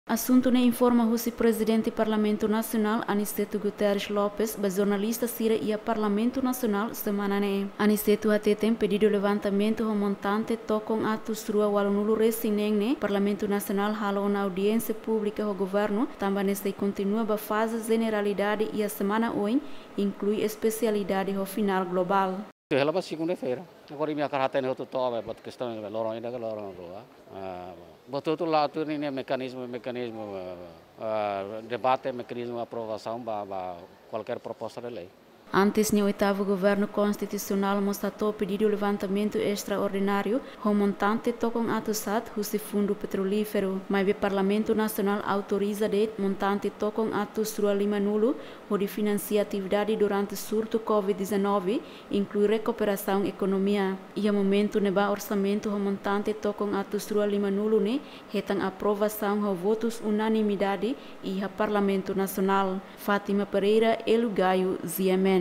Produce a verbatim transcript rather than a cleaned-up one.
Asuntu ne'e informa husi Prezidente Parlamentu Nasionál, Aniceto Guterres Lopes, ba jornalista sira iha Parlamentu Nasionál semana ne'e. Aniceto hateten pedidu levantamentu ho montante tokon atus rua ualunulu resin neen ne'e, Parlamentu Nasionál halo ona audiénsia públika ho governu, tanba ne'e sei kontinua ba faze jeneralidade iha semana oin, inklui espesialidade ho finál globál. Hela ba segunda-feira. Agora imi hakarak hatene hotu to'o ba, ba kestaun ba loron ida ka loron rua. Ah, ba hotu-hotu la'o tuir ninia mekanizmu, mekanizmu, ah, ah, debate, mekanizmu aprovasaun ba, ba kualkér proposta de lei. Antes ne'e, oitavu Governu Konstitusionál mós hato'o pedidu levantamentu estraordináriu ho montante tokon atus haat husi Fundu Petrolíferu. Maibé Parlamentu Nasionál autoriza de'it montante tokon atus rua limanulu hodi finansia atividade durante surtu covid dezanove, inklui rekuperasaun ekonomia. Iha momentu ne'ebá orsamentu ho montante tokon atus rua limanulu ne'e hetan aprovasaun ho votus unanimidade iha Parlamentu Nasionál. Fátima Pereira, Hélio Gaio, G M N.